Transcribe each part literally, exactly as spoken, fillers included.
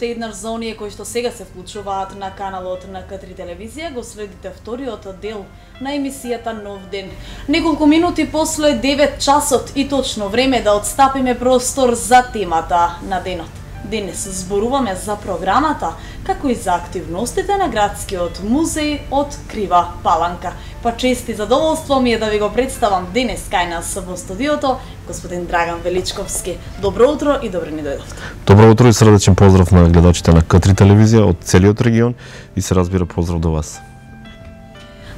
уште еднаш за оние кои што сега се вклучуваат на каналот на К три телевизија, го следите вториот дел на емисијата Нов ден. Неколку минути после девет часот и точно време да отстапиме простор за темата на денот. Денес зборуваме за програмата, како и за активностите на градскиот музеј од Крива Паланка. Па чест и задоволство ми е да ви го представам денес кај нас во студиото господин Драган Величковски. Добро утро и добре ни дојдовте. Добро утро и срдечен поздрав на гледачите на К три телевизија од целиот регион и се разбира поздрав до вас.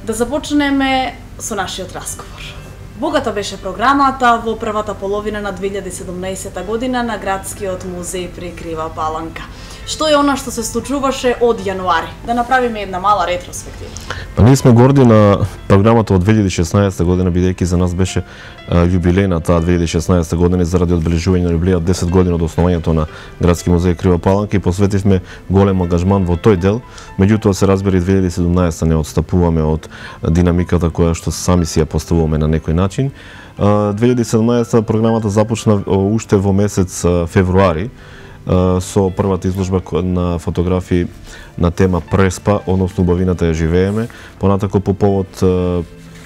Да започнеме со нашиот разговор. Богата беше програмата во првата половина на две илјади и седумнаесета година на Градскиот музеј при Крива Паланка. Што е она што се случуваше од јануари? Да направиме една мала ретроспектива. Па ние сме горди на програмата од две илјади и шеснаесета година, бидејќи за нас беше јубилејна таа две илјади и шеснаесета година заради одбележување на јубилејот десет години од основањето на Градски музеј Крива Паланка и посветивме голем ангажман во тој дел. Меѓутоа се разбира и две илјади и седумнаесета не отстапуваме од динамиката која што сами си ја поставуваме на некој начин. две илјади и седумнаесета програмата започна уште во месец февруари со првата изложба на фотографии на тема Преспа, односно убавината ја живееме. Понатако по повод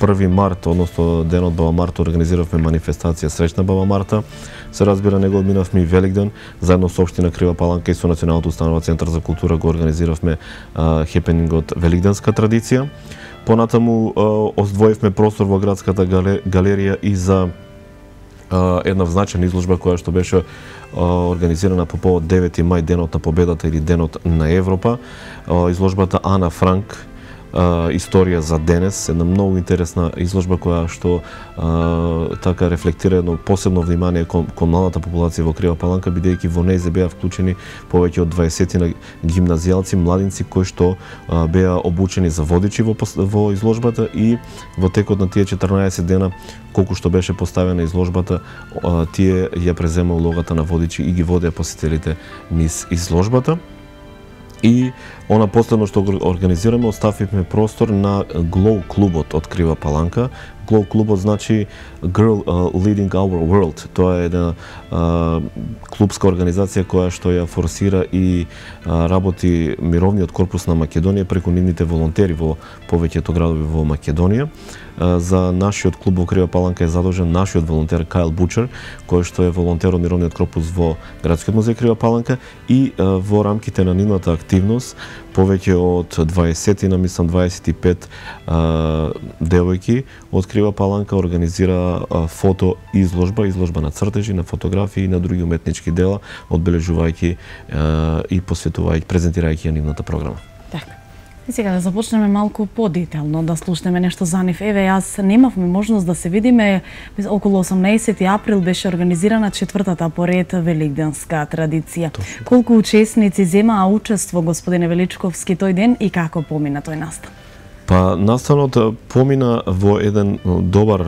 први март, односно денот Баба Марта, организиравме манифестација Среќна Баба Марта. Се разбира, него одминавме и Великден, заедно со општина Крива Паланка и со Националното установа Центар за култура го организиравме хепенингот Великденска традиција. Понатаму оздвоивме простор во градската галерија и за една значајна изложба која што беше организирана по повод девети мај, денот на победата или денот на Европа. Изложбата Ана Франк, историја за денес, една многу интересна изложба која што а, така рефлектира едно посебно внимание кон, кон младата популација во Крива Паланка, бидејќи во неј беа вклучени повеќе од дваесет гимназијалци, младинци кои што а, беа обучени за водичи во, во изложбата и во текот на тие четрнаесет дена колку што беше поставена изложбата, а, тие ја презема улогата на водичи и ги водеа посетителите низ изложбата. И она последно што го организираме, оставивме простор на Glow клубот од Крива Паланка. Glow клубот значи Girl uh, Leading Our World. Тоа е една uh, клубска организација која што ја форсира и uh, работи мировниот корпус на Македонија преку нивните волонтери во повеќето градови во Македонија. Uh, за нашиот клуб во Крива Паланка е задолжен нашиот волонтер Кайл Бучер, кој што е волонтер од мировниот корпус во Градскиот музеј Крива Паланка и uh, во рамките на нивната активност повеќе од дваесет, на мислам дваесет и пет uh, девојки од Крива Паланка организира uh, фото изложба, изложба на цртежи, на фотографии и на други уметнички дела, одбележувајќи uh, и посветувајќи, презентирајќи ја нивната програма. Така. И сега да започнеме малку подетелно, да слушнеме нешто за нив. Еве, јас немавме можност да се видиме, околу осумнаесети април беше организирана четвртата поред великденска традиција. Точно. Колку учесници земаа учество, господине Величковски, тој ден и како помина тој настан? Па, настанот помина во еден добар,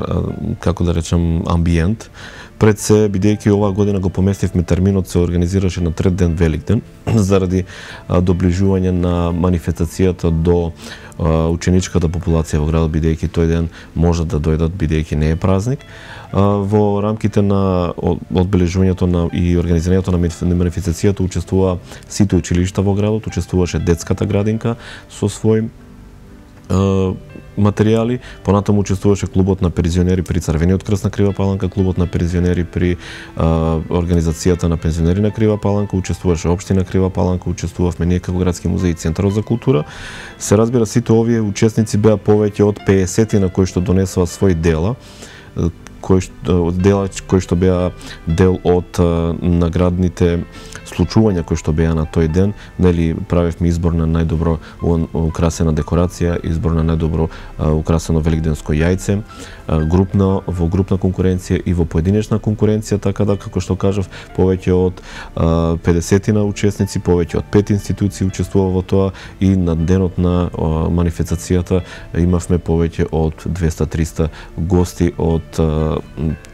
како да речем, амбиент. Пред се, бидејќи оваа година го поместивме терминот, се организираше на трет ден Великден, заради а, доближување на манифестацијата до а, ученичката популација во градот, бидејќи тој ден можат да дојдат, бидејќи не е празник. А, во рамките на одбележувањето на и организирањето на манифестацијата учествува сите училишта во градот, учествуваше детската градинка со свој материјали, понатаму учествуваше клубот на пензионери при Црвениот крст на Крива Паланка, клубот на пензионери при а, организацијата на пензионери на Крива Паланка, учествуваше општина Крива Паланка, учествувавме ние како Градски музеј и Центарот за култура. Се разбира, сите овие учесници беа повеќе од пеесет на кои што донесува своји дела, кои што, дела кои што беа дел од а, наградните случувања кои што беа на тој ден, нели правевме избор на најдобро украсена декорација, избор на најдобро украсено великденско јајце, групна во групна конкуренција и во поединечна конкуренција, така да како што кажав, повеќе од педесет учесници, повеќе од пет институции учествува во тоа и на денот на манифестацијата имавме повеќе од двеста до триста гости од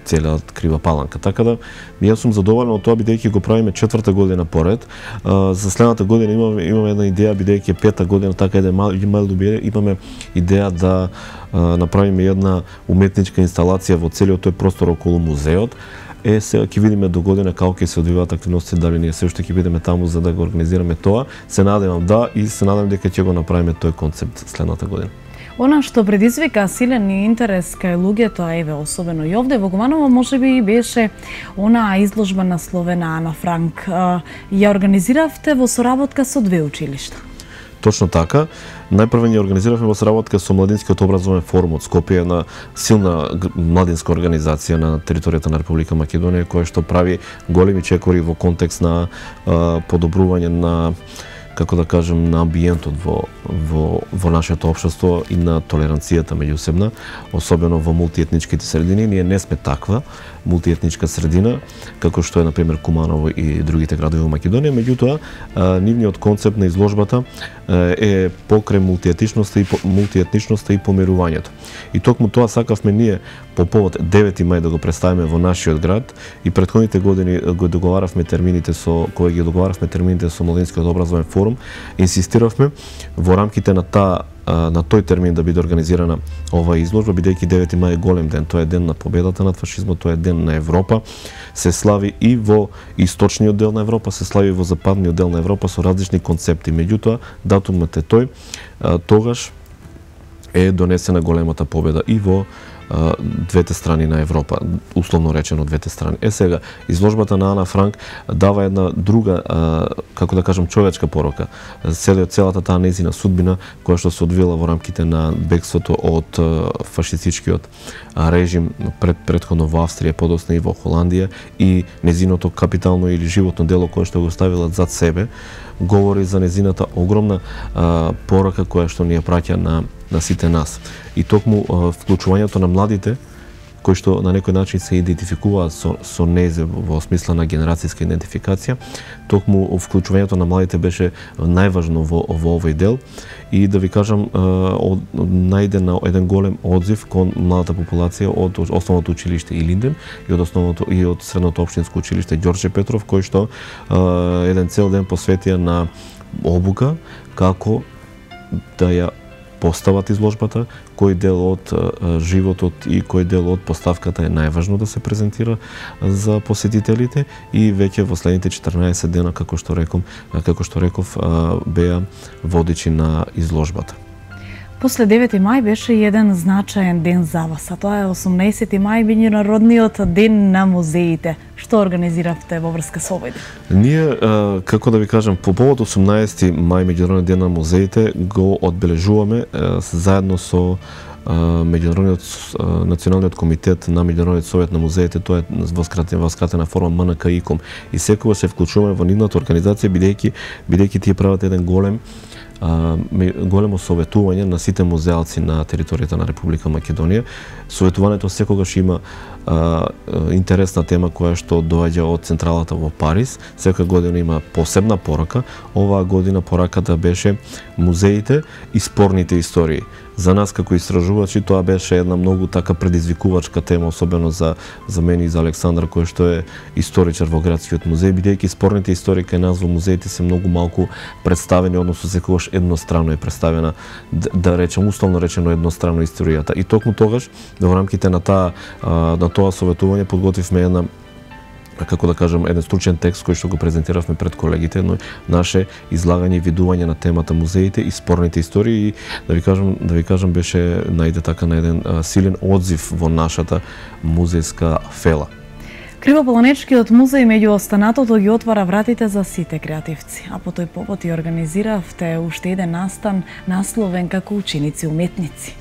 целиот Крива Паланка. Така да, јас сум задоволен од тоа, бидејќи го правиме четврта година поред. А, за следната година имаме, имаме една идеја, бидејќи пета година, така е мал, мал добие, имаме идеја да а, направиме една уметничка инсталација во целиот тој простор околу музеот. Е, сега ќе видиме до година како ќе се одвиваат активности, дали ние се уште ќе бидеме таму за да го организираме тоа. Се надевам да и се надевам дека ќе го направиме тој концепт следната година. Она што предизвика силен интерес кај луѓето, а еве особено и овде во Гуманово, можеби беше онаа изложба насловена Ана Франк. Ја организиравте во соработка со две училишта. Точно така. Најпрво ја организиравме во соработка со Младинскиот образовен форум од Скопје, една силна младинска организација на територијата на Република Македонија, која што прави големи чекори во контекст на а, подобрување на, како да кажем, на амбиентот во, во, во нашето општество и на толеранцијата меѓусебна, особено во мултиетничките средини. Ние не сме таква мултиетничка средина, како што е, например, Куманово и другите градови во Македонија, меѓутоа, нивниот концепт на изложбата е покрај мултиетничноста и мултиетничноста и помирувањето. И токму тоа сакавме ние по повод девети мај да го представиме во нашиот град и претходните години го договаравме термините со кога ги договаравме термините со Младинскиот образовен форум, инсистиравме во рамките на таа на тој термин да биде организирана оваа изложба, бидејќи девети мај е голем ден, тоа е ден на победата над фашизмот, тоа е ден на Европа, се слави и во источниот дел на Европа, се слави и во западниот дел на Европа со различни концепти. Меѓутоа, датумот е тој, тогаш е донесена големата победа и во двете страни на Европа, условно речено двете страни. Е сега, изложбата на Ана Франк дава една друга, како да кажам, човечка порока. Целиот целата таа нејзина судбина, која што се одвила во рамките на бегството од фашистичкиот режим пред претходно во Австрија, подосна и во Холандија, и нејзиното капитално или животно дело кое што го ставила зад себе, говори за нејзината огромна а, порака која што ни ја праќа на на сите нас. И токму а, вклучувањето на младите кои што на некој начин се идентификуваат со, со нејзе во смисла на генерацијска идентификација, токму вклучувањето на младите беше најважно во, во овој дел и да ви кажам, од, најде на еден голем одзив кон младата популација од основното училиште Илинден и од основното и од средното општинско училиште Ѓорче Петров, кој што а, еден цел ден посветија на обука како да ја постават изложбата, кој дел од а, животот и кој дел од поставката е најважно да се презентира за посетителите и веќе во следните четрнаесет дена, како што реком, како што реков, а, беа водичи на изложбата. После девети мај беше еден значаен ден за вас, а тоа е осумнаесети мај, меѓународниот ден на музеите. Што организиравте во врска со овој ден? Ние, како да ви кажам, по повод осумнаесети мај, меѓународниот ден на музеите, го одбележуваме заедно со меѓународниот националниот комитет на меѓународниот совет на музеите, тоа е во скратена форма М Н К И К О М. И секогаш се вклучуваме во нивната организација, бидејќи бидејќи тие прават еден голем големо советување на сите музеалци на територијата на Република Македонија. Советувањето секогаш има а, интересна тема која што доаѓа од централата во Париз. Секоја година има посебна порака. Оваа година пораката беше музеите и спорните истории. За нас како истражувачи тоа беше една многу така предизвикувачка тема, особено за за мене и за Александар, кој што е историчар во градскиот музеј, бидејќи спорните истории кај нас во музеите се многу малку представени, односно секогаш еднострано е представена, да, да речем условно речено еднострано историјата. И токму тогаш во рамките на таа на тоа советување подготвивме една, како да кажам, еден стручен текст кој што го презентиравме пред колегите, но наше излагање и видување на темата музеите и спорните истории, и да ви кажам, да ви кажам беше најде така на еден а, силен одзив во нашата музејска фела. Кривополанечкиот музеј меѓу останатото ги отвара вратите за сите креативци, а по тој повод и организиравте уште еден настан насловен како ученици уметници.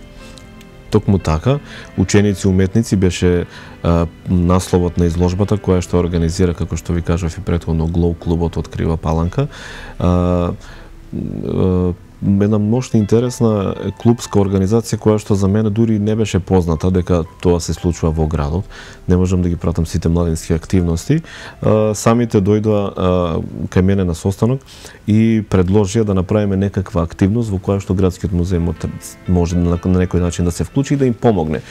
Токму така, ученици уметници беше а, насловот на изложбата која што организира, како што ви кажав и претходно, Глоу клубот од Крива Паланка. А, а, една мощна интересна клубска организација која што за мене дури не беше позната дека тоа се случува во градот. Не можам да ги пратам сите младински активности. А, самите дојдоа кај мене на состанок и предложија да направиме некаква активност во која што градскиот музеј може на, на некој начин да се вклучи и да им помогне.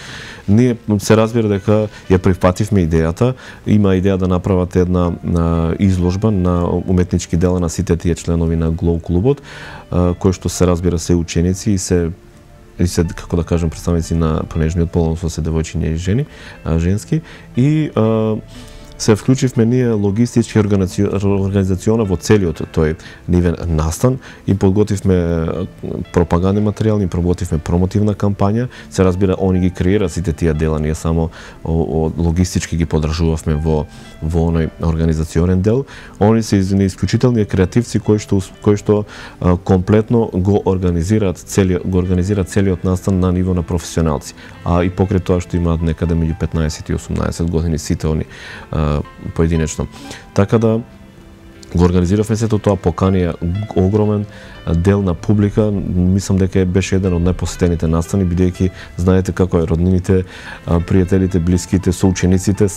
Ние се разбира дека ја прифативме идејата, има идеја да направат една а, изложба на уметнички дела на сите тие членови на Глоу клубот, а, кои што се разбира се ученици и се и се, како да кажем, представници на понежниот пол, односно се девојчиња и жени, а, женски, и а, се вклучивме ние логистички организациона во целиот тој нивен настан и подготвивме пропагандни материјали, подготвивме промотивна кампања. Се разбира, они ги креира сите тие дела, ние само логистички ги поддржувавме во во оној организационен дел. Они се исклучителни креативци кои што кои што а, комплетно го организираат целиот го организираат целиот настан на ниво на професионалци. А и покрај тоа што имаат некаде меѓу петнаесет и осумнаесет години сите они а, поединечно. Така да го организиравме сето тоа, поканија огромен дел на публика. Мислам дека беше еден од најпосетените настани, бидејќи знаете како е, роднините, пријателите, блиските, соучениците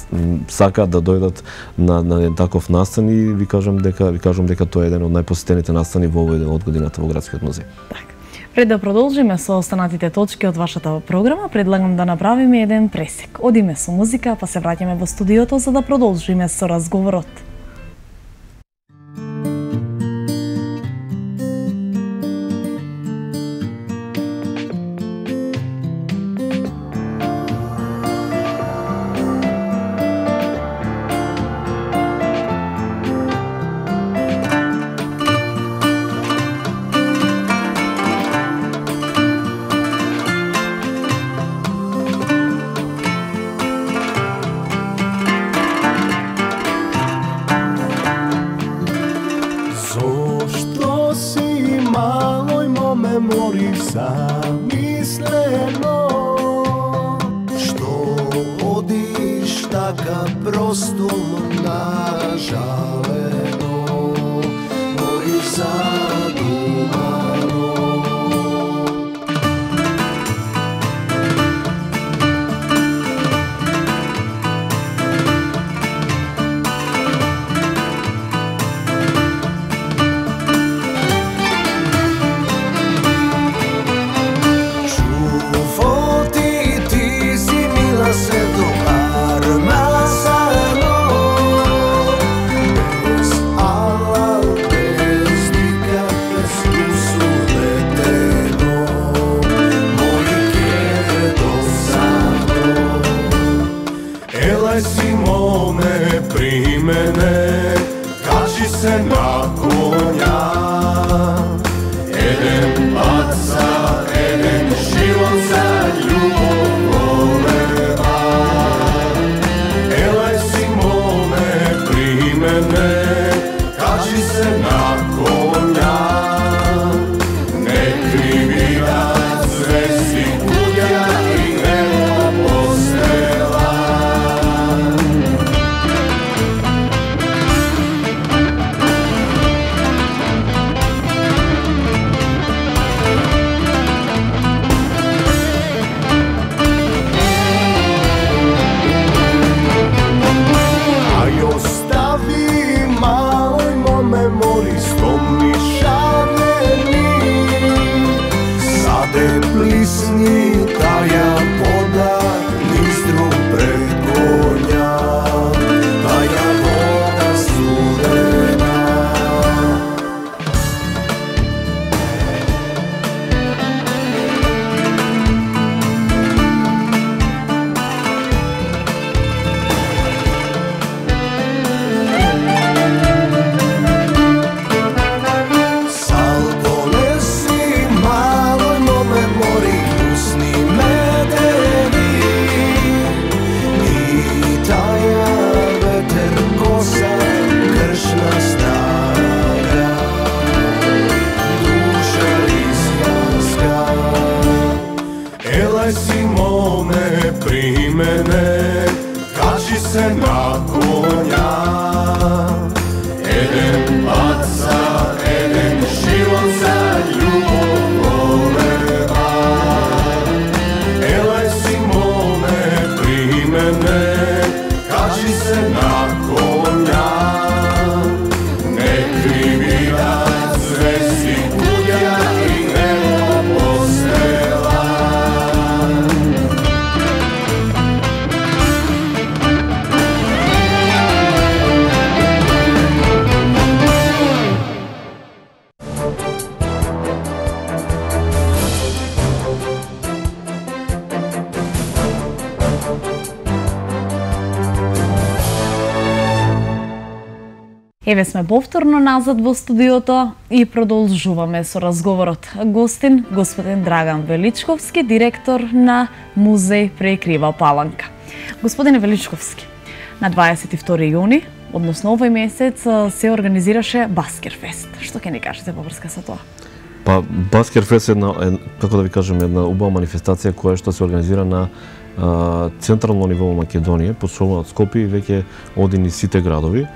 сакаат да дојдат на на еден таков настан и ви кажам дека ви кажам дека тоа е еден од најпосетените настани во овој ден од годината во Градскиот музеј. Така. Пред да продолжиме со останатите точки од вашата програма, предлагам да направиме еден пресек. Одиме со музика, па се враќаме во студиото за да продолжиме со разговорот. Еве сме повторно назад во студиото и продолжуваме со разговорот. Гостин, господин Драган Величковски, директор на Музеј Преекрива Паланка. Господине Величковски, на дваесет и втори јуни, односно овој месец, се организираше Баскерфест. Што ќе ни кажете во врска со тоа? Па, Баскерфест е една, е, како да ви кажем, една убава манифестација која што се организира на а, централно ниво во Македонија, посебно од Скопје и веќе оди низ сите градови.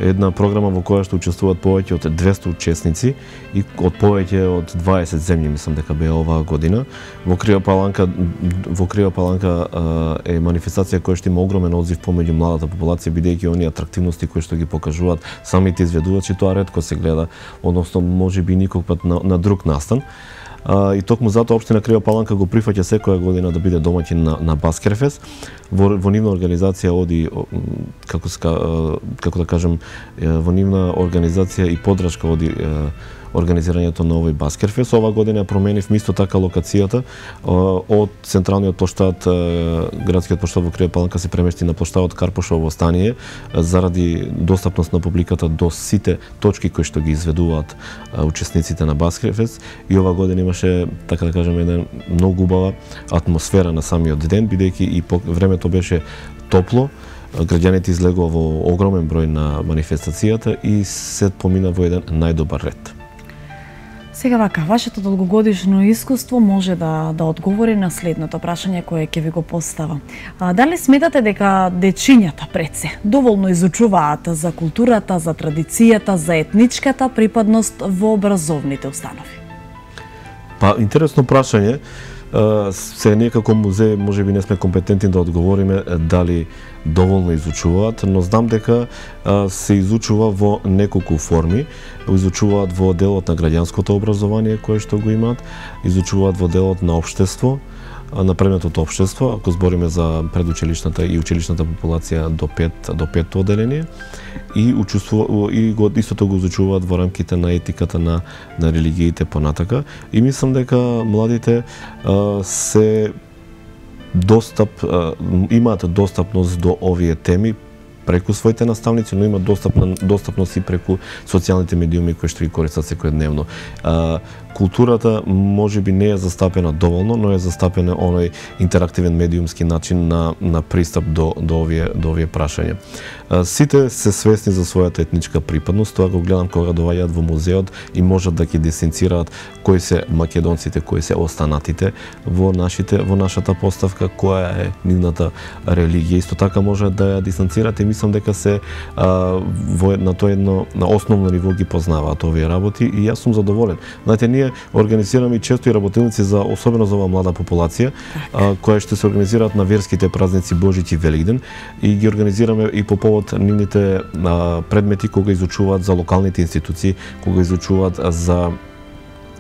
Една програма во која што учествуваат повеќе од двесте учесници и од повеќе од дваесет земји, мислам дека беа оваа година. Во Крива Паланка, во Крива Паланка е манифестација која што има огромен одзив помеѓу младата популација, бидејќи оние атрактивности кои што ги покажуваат самите изведувачи, тоа ретко се гледа, односно можеби никог пат на, на друг настан. Uh, и токму затоа општина Крива Паланка го прифаќа секоја година да биде домаќин на, на Баскерфест. Во, во нивна организација оди, како, ска, како да кажем, во нивна организација и подршка оди организирањето на овој Баскерфест. Ова година променив исто така локацијата од централниот плоштад, градскиот плоштад во Крива Паланка се премести на плоштадот Карпошово стание заради достапност на публиката до сите точки кои што ги изведуваат учесниците на Баскерфест. И ова година имаше, така да кажем, една многу убава атмосфера на самиот ден, бидејќи и по времето беше топло. Граѓаните излегува во огромен број на манифестацијата и се помина во еден најдобар ред. Сега вака, вашето долгогодишно искуство може да да одговори на следното прашање кое ќе ви го поставам. А, дали сметате дека дечињата пред се доволно изучуваат за културата, за традицијата, за етничката припадност во образовните установи? Па, интересно прашање. Се ние како музеј можеби не сме компетентни да одговориме дали доволно изучуваат, но знам дека се изучува во неколку форми. Изучуваат во делот на граѓанското образование кое што го имаат, изучуваат во делот на општество, на предметот општество, ако збориме за предучилишната и училишната популација до пет до петто одделение, и учествува и го истото го изучуваат во рамките на етиката на на религиите понатака. И мислам дека младите а, се достап а, имаат достапност до овие теми преку своите наставници, но имаат достапна, достапност и преку социјалните медиуми кои што ги користат секојдневно. А, културата можеби не е застапена доволно, но е застапена оној интерактивен медиумски начин на на пристап до до овие до овие прашања. А, сите се свесни за својата етничка припадност, тоа го гледам кога доаѓаат во музеот и можат да ги дисцинцираат кои се македонците, кои се останатите во нашите во нашата поставка, која е нивната религија. Исто така може да ја дистанцираат и мислам дека се а, во на тоа едно на основно ниво ги познаваат овие работи и јас сум задоволен. Знаете, ние организираме и често и работилници за особено за оваа млада популација, а, која што се организираат на верските празници Божич и Великден, и ги организираме и по повод нивните а, предмети кога изучуваат за локалните институции, кога изучуваат за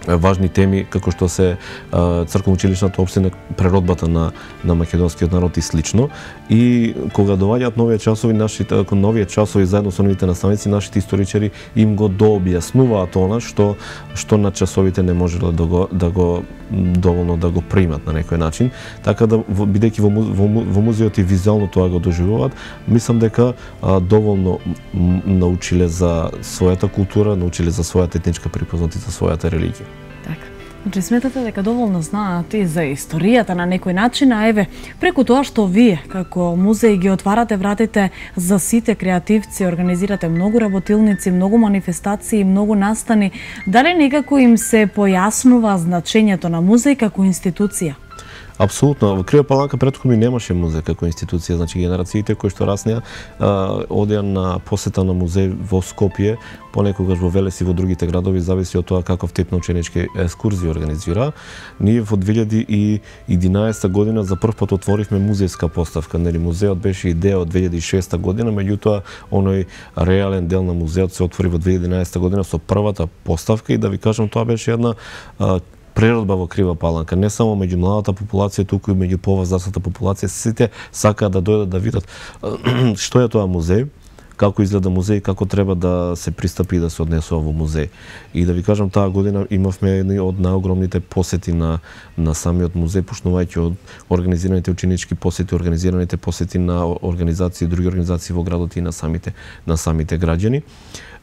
важни теми како што се црковно-училишната општина, преродбата на на македонскиот народ и слично. И кога доаѓаат нови часови, нашите нови часови заедно со новите наставници, нашите историчари им го дообјаснуваат она што што на часовите не можело да го да го доволно да го примат на некој начин. Така да бидејќи во, во, во музеот и визуално тоа го доживуваат, мислам дека а, доволно научиле за својата култура, научиле за својата етничка припознатост и за својата религија. Така. Значи сметате дека доволно знаат и за историјата на некој начин, а еве, преку тоа што вие како музеј ги отварате вратите за сите креативци, организирате многу работилници, многу манифестации, многу настани, дали некако им се појаснува значењето на музеј како институција? Апсолутно. Во Крива Паланка претходно немаше музеј како институција, значи генерациите кои што раснеа одеа на посета на музеј во Скопје, понекогаш во Велес и во другите градови, зависи од тоа каков тип на ученички екскурзии организира. Ние во две илјади и единаесета година за прв пат отворивме музејска поставка. Нели музеот беше идеја од две илјади и шеста година, меѓутоа оној реален дел на музеот се отвори во две илјади и единаесета година со првата поставка, и да ви кажам, тоа беше една преродба во Крива Паланка, не само меѓу младата популација, туку и меѓу повозрастната популација. Сите сакаат да дојдат да видат што е тоа музеј, како изгледа музеј, како треба да се пристапи и да се однесува во музеј. И да ви кажам, таа година имавме едни од најогромните посети на на самиот музеј, почнувајќи од организираните ученички посети, организираните посети на организации, други организации во градот и на самите на самите граѓани.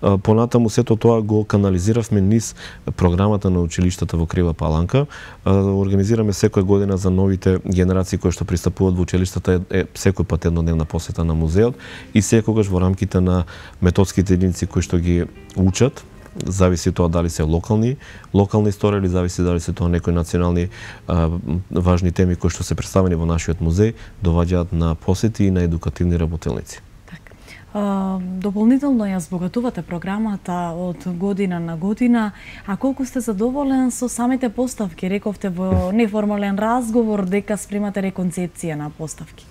понатаму сето тоа го канализиравме низ програмата на училиштата во Крива Паланка. Организираме секоја година за новите генерации кои што пристапуваат во училиштата е, е секој пат еднодневна посета на музеот и секогаш во рамките на методските единици кои што ги учат, зависи тоа дали се локални, локални истории или зависи дали се тоа некои национални а, важни теми кои што се представени во нашиот музеј, доваѓаат на посети и на едукативни работилници. Дополнително ја збогатувате програмата од година на година, а колку сте задоволен со самите поставки? Рековте во неформален разговор дека спремате реконцепција на поставки.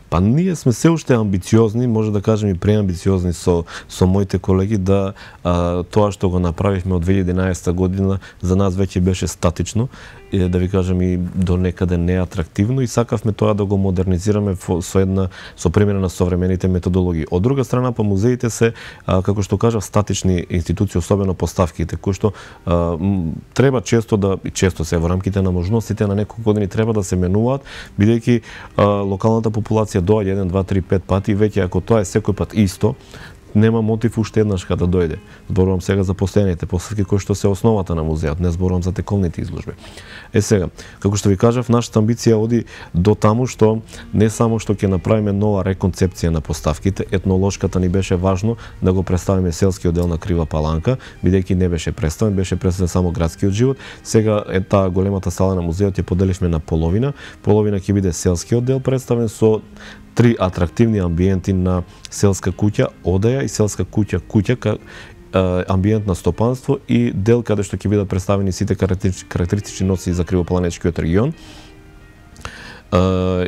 Па ние сме се уште амбициозни, може да кажем и преамбициозни со со моите колеги, да а, тоа што го направивме од две илјади и единаесета година за нас веќе беше статично, и, да ви кажем и до некаде неатрактивно, и сакавме тоа да го модернизираме со една со примера на современите методологии. Од друга страна, по музеите се, а, како што кажав, статични институции, особено поставките, кои што а, треба често да и често се во рамките на можностите на неколку години треба да се менуваат, бидејќи локалната популација доаѓа еден, два, три, пет пати, веќе ако тоа е секој пат исто, нема мотив уште еднаш кога да дојде. Зборувам сега за постојаните поставки кои што се основата на музеот, не зборувам за тековните изложби. Е сега, како што ви кажав, нашата амбиција оди до таму што не само што ќе направиме нова реконцепција на поставките, етнолошката ни беше важно да го представиме селскиот дел на Крива Паланка, бидејќи не беше представен, беше представен само градскиот живот. Сега е таа големата сала на музеот ја поделивме на половина, половина ќе биде селскиот дел представен со три атрактивни амбиенти на селска куќа, одаја и селска куќа, куќа ка, амбиент на стопанство и дел каде што ќе бидат представени сите карактеристични носи за Кривопаланечкиот регион.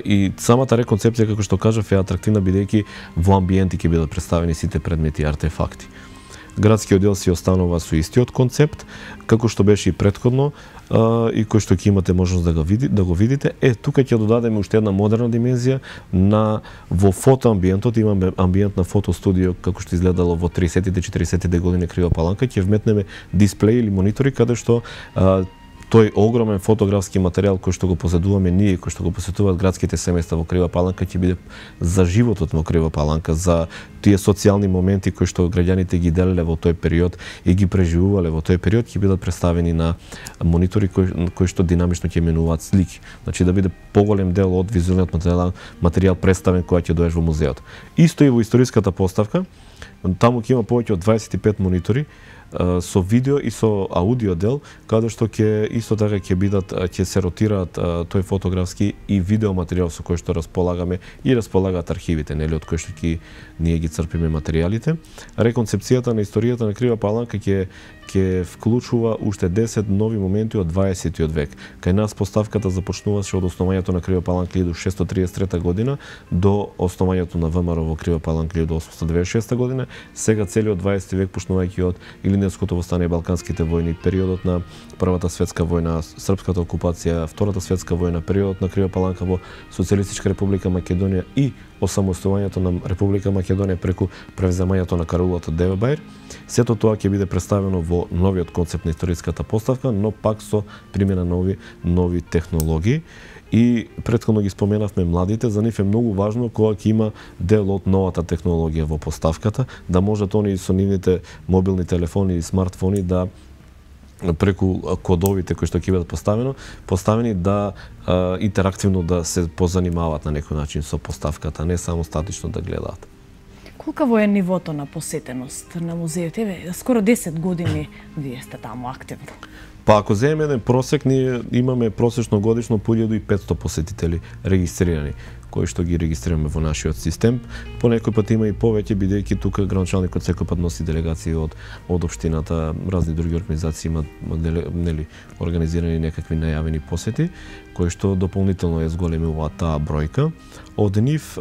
И самата реконцепција, како што кажав, е атрактивна бидејќи во амбиенти ќе бидат представени сите предмети и артефакти. Градскиот дел си останува со истиот концепт, како што беше и претходно, и кој што ќе имате можност да го видите, да го видите. Е, тука ќе додадеме уште една модерна димензија на во фотоамбиентот, имаме амбиент на фотостудио како што изгледало во тридесеттите четиридесеттите години Крива Паланка, ќе вметнеме дисплеи или монитори каде што а, тој огромен фотографски материјал кој што го поседуваме ние, кој што го посетуваат градските семејства во Крива Паланка, ќе биде за животот во Крива Паланка, за тие социјални моменти кои што граѓаните ги делеле во тој период и ги преживувале во тој период, ќе бидат представени на монитори кои, кои што динамично ќе менуваат слики. Значи да биде поголем дел од визуелниот материјал, материјал представен кога ќе доеш во музеот. Исто и во историската поставка, таму ќе има повеќе од дваесет и пет монитори со видео и со аудио дел, каде што ќе исто така ќе бидат ќе се ротираат тој фотографски и видео материјал со кој што располагаме и располагаат архивите, нели, од кои што ќе ние ги црпиме материјалите. Реконцепцијата на историјата на Крива Паланка ќе ќе вклучува уште десет нови моменти од дваесеттиот век. Кај нас поставката започнуваше од основањето на Крива Паланка илјаду шестстотини триесет и трета година до основањето на ВМРО во Крива Паланка илјаду осумстотини деведесет и шеста година. Сега целиот дваесети век, почнувајќи од Илинденското востание, Балканските војни, периодот на Првата светска војна, српската окупација, Втората светска војна, периодот на Крива Паланка во Социјалистичка република Македонија и осамостојувањето на Република Македонија преку превземањето на карулата Девебајр. Сето тоа ќе биде представено во новиот концепт на историската поставка, но пак со примена нови нови технологии. И претходно ги споменавме младите, за нив е многу важно кога ќе има дел од новата технологија во поставката, да можат они со нивните мобилни телефони и смартфони да преку кодовите кои што ќе бидат поставено, поставени да а, интерактивно да се позанимаваат на некој начин со поставката, не само статично да гледаат. Колкаво е нивото на посетеност на музеот? Еве, скоро десет години вие сте таму активно. Па ако земеме еден просек, ние имаме просечно годишно по илјада и петсто посетители регистрирани, кои што ги регистрираме во нашиот систем. По некој пат има и повеќе, бидејќи тука градоначалникот секој пат носи делегации од од општината, разни други организации имаат, нели, организирани некакви најавени посети, кои што дополнително ја зголемува таа бројка. Од нив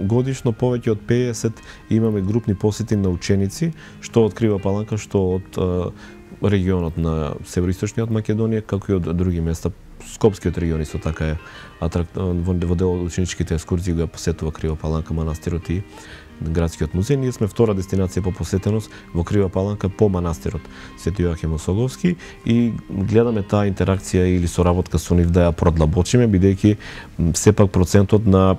годишно повеќе од педесет имаме групни посети на ученици, што од Крива Паланка, што од регионот на североисточниот Македонија, како и од други места Скопскиот регион исто така е атракт... во дел од ученичките екскурзии го посетува Крива Паланка, манастирот и градскиот музеј. Ние сме втора дестинација по посетеност во Крива Паланка по манастирот Свети Јоахим Осоговски и гледаме таа интеракција или соработка со нив да ја продлабочиме, бидејќи сепак процентот на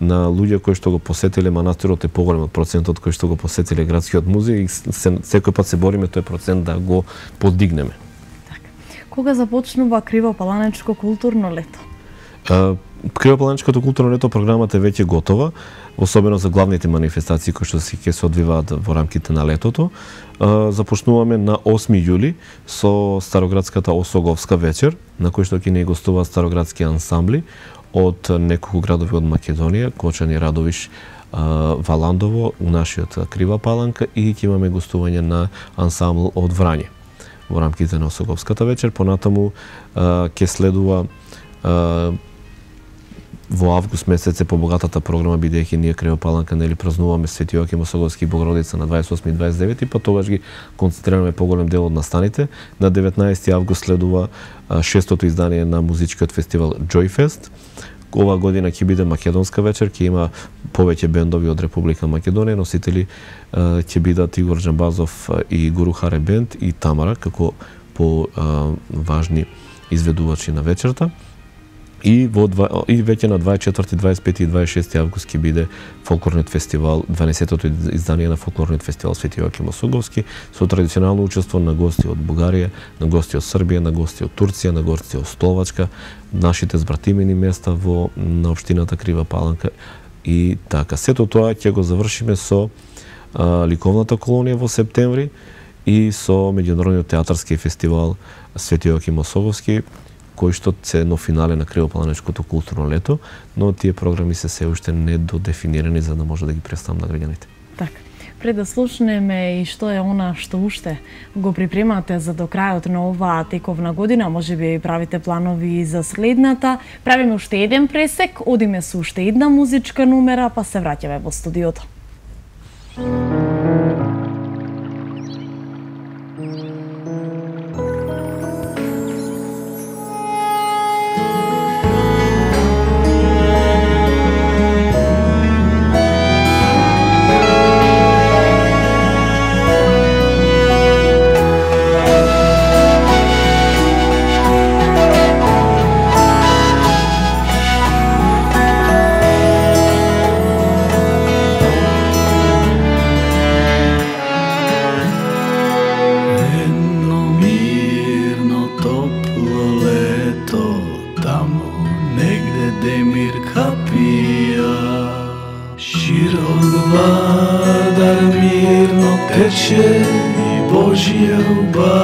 на луѓе кои што го посетиле манастирот е поголем од процентот кои што го посетиле градскиот музеј и се, секој пат се бориме тој процент да го подигнеме. Така. Кога започнува Кривопаланечко културно лето? Кривопаланечкото културно лето програмата е веќе готова, особено за главните манифестации кои што се ќе се одвиваат во рамките на летото. Започнуваме на осми јули со Староградската Осоговска вечер, на кој што ќе ни гостуваат староградски ансамбли од неколку градови од Македонија, Кочани, Радовиш, Валандово, нашиот Крива Паланка и ќе имаме гостување на ансамбл од Врање во рамките на Осоговската вечер. Понатаму ќе следува во август месец е побогатата програма, бидејќи ние Крива Паланка нели празнуваме Свети Јоаким Осоговски и Богородица на дваесет и осми и дваесет и девети, па тогаш ги концентрираме поголем дел од настаните. На деветнаесети август следува шестото издание на музичкиот фестивал Joyfest. Ова година ќе биде македонска вечер, ќе има повеќе бендови од Република Македонија, носители ќе бидат Игор Джамбазов и Гуру Харе бенд и Тамара како по важни изведувачи на вечерта. И во и веќе на дваесет и четврти, дваесет и пети и дваесет и шести август ќе биде фолклорниот фестивал, дванаесеттото издание на фолклорниот фестивал Свети Јоаким Осоговски со традиционално учество на гости од Бугарија, на гости од Србија, на гости од Турција, на гости од Словачка, нашите збратимени места во на општината Крива Паланка и така. Сето тоа ќе го завршиме со а, ликовната колонија во септември и со меѓународниот театарски фестивал Свети Јоаким Осоговски, кој што се едно финале на Кривопаланечкото културно лето, но тие програми се се уште недодефинирани за да може да ги представам на граѓаните. Така. Пред да слушнеме и што е она што уште го припремате за до крајот на оваа тековна година, можеби правите планови за следната, правиме уште еден пресек, одиме со уште една музичка номера, па се враќаме во студиото. Srce mu prozborува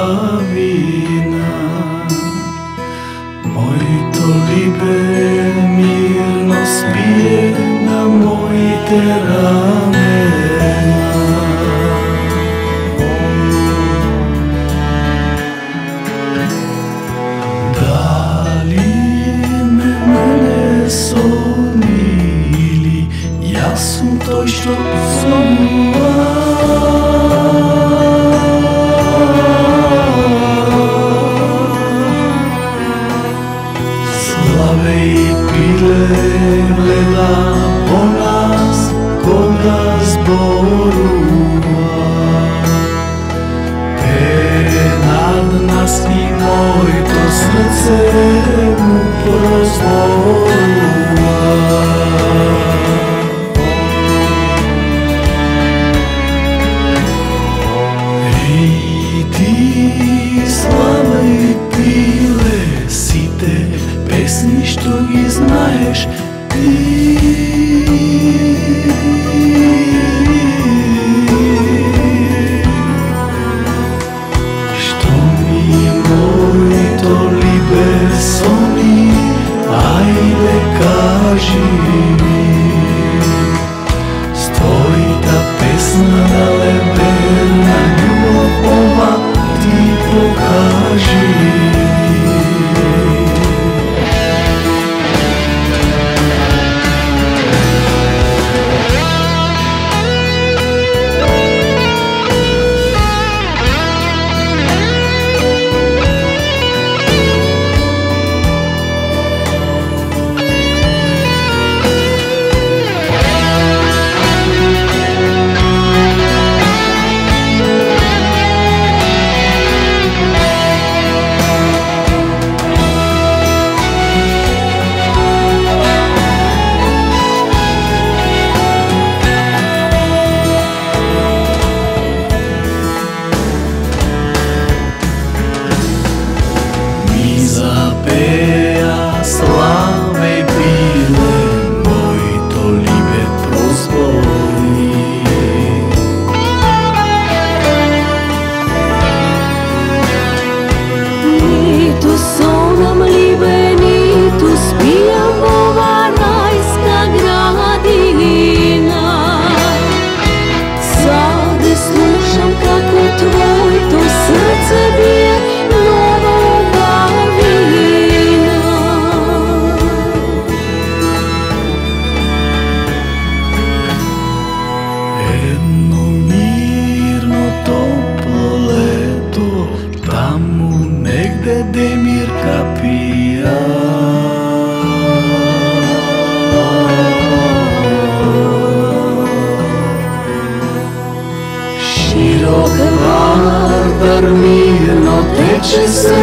рече се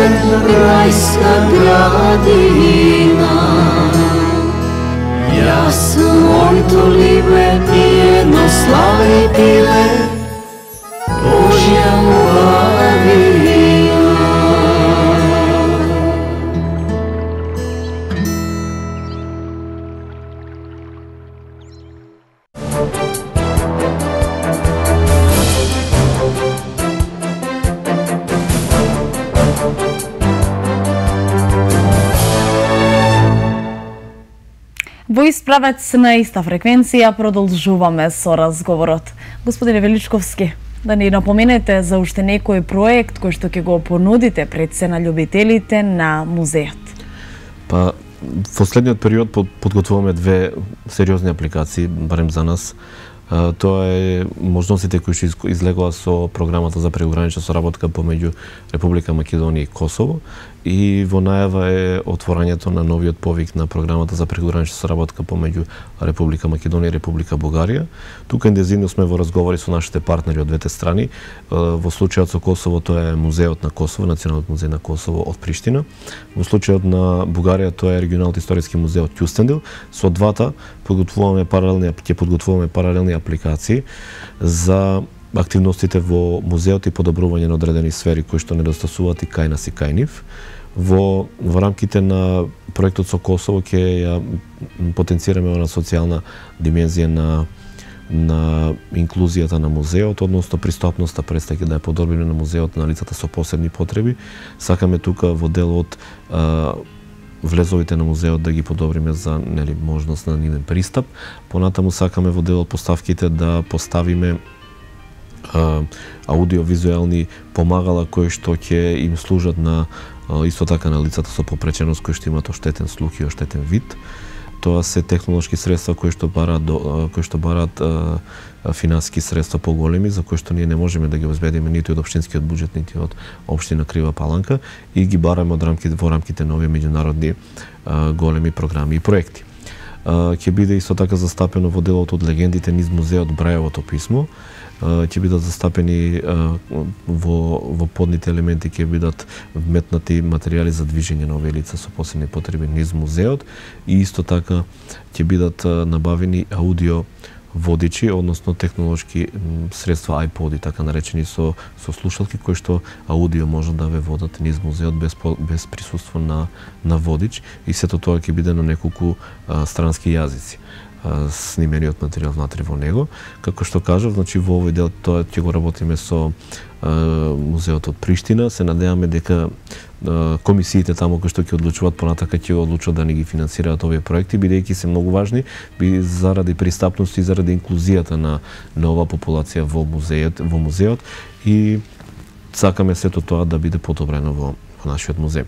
рајска градина. Јас моето либе и едно слави пиле, Божја муавина. Во Исправец на иста фреквенција продолжуваме со разговорот. Господине Величковски, да ни напоменете за уште некој проект кој што ќе го понудите пред се на љубителите на музеот. Па, во следниот период подготвуваме две сериозни апликации, барем за нас. Тоа е можностите кои што излегува со програмата за прегранична соработка помеѓу Република Македонија и Косово, и во најава е отворањето на новиот повик на програмата за прегранична соработка помеѓу Република Македонија и Република Бугарија. Тука интензивно сме во разговори со нашите партнери од двете страни. Во случајот со Косово тоа е музеот на Косово, Националниот музеј на Косово од Приштина. Во случајот на Бугарија тоа е регионалниот историски музеј од Кюстендил. Со двата подготвуваме паралелни ќе подготвуваме паралелни апликации за активностите во музеот и подобрување на одредени сфери кои што недостасуваат и кај нас и кај нив. Во, во рамките на проектот со Косово ќе ја потенцираме на социјална димензија на на инклузијата на музеот, односно пристапноста представи да ја подобриме на музеот на лицата со посебни потреби. Сакаме тука во дел од а, влезовите на музеот да ги подобриме за нели можност на нивен пристап. Понатаму сакаме во дел од поставките да поставиме аудиовизуелни помагала кои што ќе им служат на исто така на лицата со попреченост кои што имаат оштетен слух и оштетен вид. Тоа се технолошки средства кои што бараат кои што бараат финансиски средства поголеми за кои што ние не можеме да ги обезбедиме ниту од општинскиот буџет ниту од општина Крива Паланка, и ги бараме од рамките во рамките на овие меѓународни големи програми и проекти. Ќе биде исто така застапено во делот од легендите низ музеот Брајовото писмо. Ќе бидат застапени во, во подните елементи ќе бидат вметнати материјали за движење на овие лица со посебни потреби низ музеот, и исто така ќе бидат набавени аудио водичи, односно технолошки средства iPod-и, така наречени со со слушалки кои што аудио може да ве водат низ музеот без без присуство на на водич, и сето тоа ќе биде на неколку а, странски јазици снимениот материјал внатре во него. Како што кажав, значи во овој дел тоа ќе го работиме со а, музеот од Приштина. Се надеваме дека а, комисиите таму кои што ќе одлучуваат понатака ќе одлучат да ни ги финансираат овие проекти, бидејќи се многу важни би заради пристапност и заради инклузијата на на оваа популација во музеот, во музеот, и сакаме сето тоа да биде подобрено во, во нашиот музеј.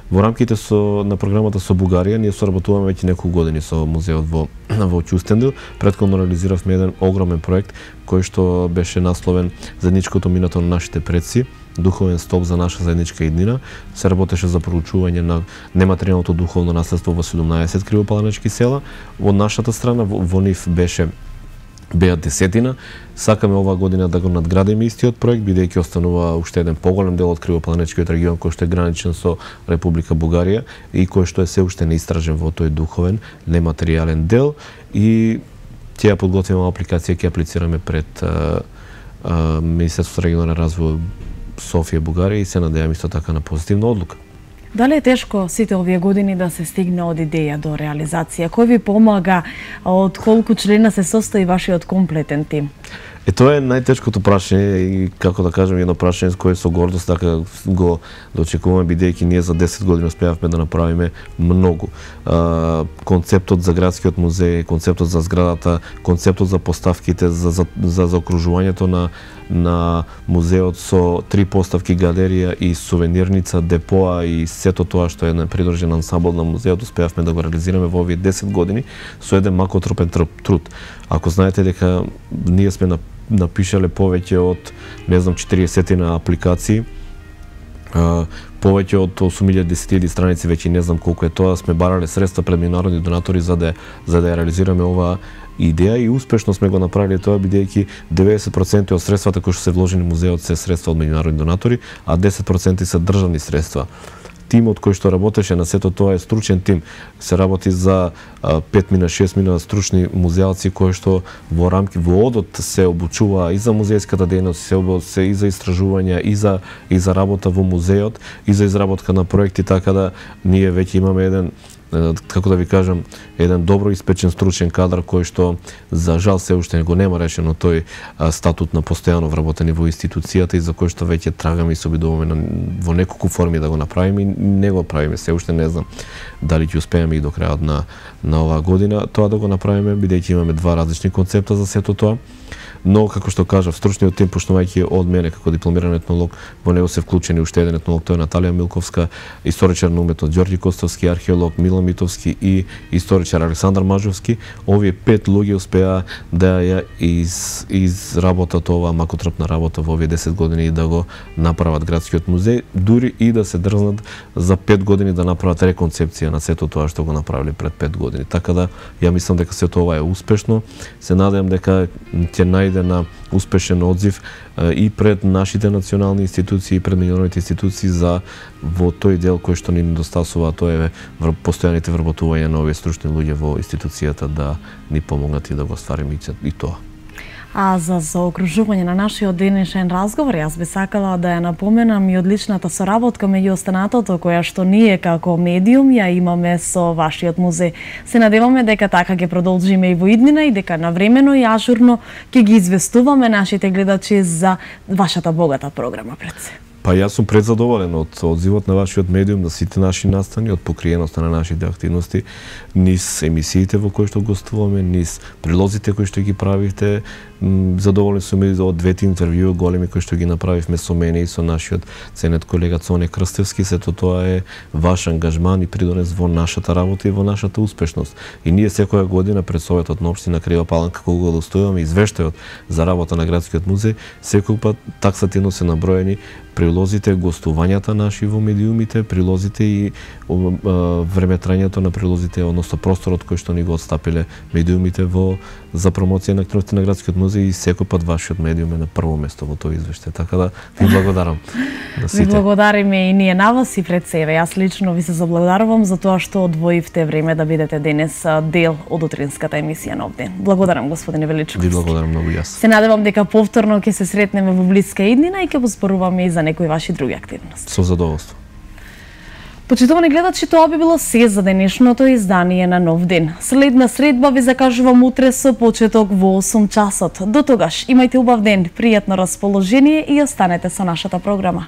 Во рамките со на програмата со Бугарија ние соработуваме веќе неколку години со музеот во во Кюстендил. Претходно реализиравме еден огромен проект кој што беше насловен Заедничкото минато на нашите предци, духовен столб за наша заедничка иднина. Се работеше за проучување на нематеријалното духовно наследство во седумнаесет кривопаланечки села. Од нашата страна во, во нив беше беа десетина. Сакаме оваа година да го надградиме истиот проект, бидејќи останува уште еден поголем дел од кривопаланечкиот регион кој што е граничен со Република Бугарија и кој што е се уште неистражен во тој духовен нематеријален дел, и ќе ја подготвиме апликација, ќе аплицираме пред а, а, Министерството за регионален развој Софија, Бугарија, и се надевам исто така на позитивна одлука. Дали е тешко сите овие години да се стигне од идеја до реализација? Кој ви помага? Од колку члена се состои вашиот комплетен тим? Е, тоа е најтешкото прашање, и како да кажем, едно прашање со кое со гордост така го дочекуваме, бидејќи ние за десет години успеавме да направиме многу. А, концептот за градскиот музеј, концептот за зградата, концептот за поставките, за за, за заокружувањето на на музеот со три поставки, галерија и сувенирница, депоа и сето тоа што е на придружен ансамбл на музеот, успеавме да го реализираме во овие десет години со еден макотропен труд. Ако знаете дека ние сме на напишале повеќе од, не знам, четириесет на апликации повеќе од осум илјади десет илјади страници, веќе не знам колку е тоа, сме барале средства пред меѓународни донатори за да за да ја реализираме оваа идеја и успешно сме го направиле тоа, бидејќи деветдесет проценти од средствата кои што се вложени во музеот се средства од меѓународни донатори, а десет проценти се државни средства. Тимот кој што работеше на сето тоа е стручен тим. Се работи за пет мина шест мина стручни музеалци кои што во рамки во одот се обучува и за музејската дејност, се, се и за истражувања, и за и за работа во музеот, и за изработка на проекти, така да ние веќе имаме еден, како да ви кажам, еден добро испечен стручен кадар кој што за жал се уште го нема решено тој статут на постојано вработени во институцијата и за кој што веќе трагаме и се обидуваме во неколку форми да го направиме и не го правиме, се уште не знам дали ќе успееме и до крајот на на оваа година тоа да го направиме, бидејќи имаме два различни концепта за сето тоа. Но, како што кажав, стручниот тим, почнувајќи од мене како дипломиран етнолог, во него се вклучени уште еден етнолог, тоа е Наталија Милковска, историчар на уметот Ѓорѓи Костовски, археолог Милан Митовски и историчар Александар Мажовски. Овие пет луѓе успеа да ја из, изработат оваа макотрпна работа во овие десет години и да го направат градскиот музеј, дури и да се дрзнат за пет години да направат реконцепција на сето тоа што го направиле пред пет години. Така да, ја мислам дека сето ова е успешно. Се надевам дека ќе најде на успешен одзив и пред нашите национални институции и пред меѓународните институции за во тој дел кој што ни недостасува, тоа е постојаните вработување на овие стручни луѓе во институцијата да ни помогнат и да го ствариме и тоа. А за заокружување на нашиот денешен разговор, јас би сакала да ја напоменам и одличната соработка меѓу останатото која што ние како медиум ја имаме со вашиот музеј. Се надеваме дека така ќе продолжиме и во иднина и дека навремено и ажурно ќе ги известуваме нашите гледачи за вашата богата програма пред се. Па јас сум презадоволен од одзивот на вашиот медиум, на сите наши настани, од покриеноста на нашите активности, низ емисиите во кои што гостуваме, низ прилозите кои што ги правите. Задоволен сум и од двете интервјуи големи кои што ги направивме со мене и со нашиот ценет колега Цоне Крстевски. Сето тоа е ваш ангажман и придонес во нашата работа и во нашата успешност. И ние секоја година пред Советот на општина Крива Паланка, кога го достојуваме извештајот за работа на градскиот музеј, секој пат таксативно се наброени прилозите, гостувањата наши во медиумите, прилозите и времетрањето на прилозите, односно просторот кој што ни го отстапиле медиумите во за промоција на активности на градскиот музеј и секој пат вашиот медиум е на прво место во тој извештај. Така да ви благодарам на сите. Ви благодариме и ние на вас и пред себе. Јас лично ви се заблагодарувам за тоа што одвоивте време да бидете денес дел од утринската емисија Нов ден. Благодарам, господине Величковски. Ви благодарам многу јас. Се надевам дека повторно ќе се сретнеме во блиска иднина и ќе зборуваме и за некои ваши други активности. Со задоволство. Почитувани гледачи, тоа би било се за денешното издание на Нов ден. Следна средба ви закажувам утре со почеток во осум часот. До тогаш, имајте убав ден, пријатно расположение и останете со нашата програма.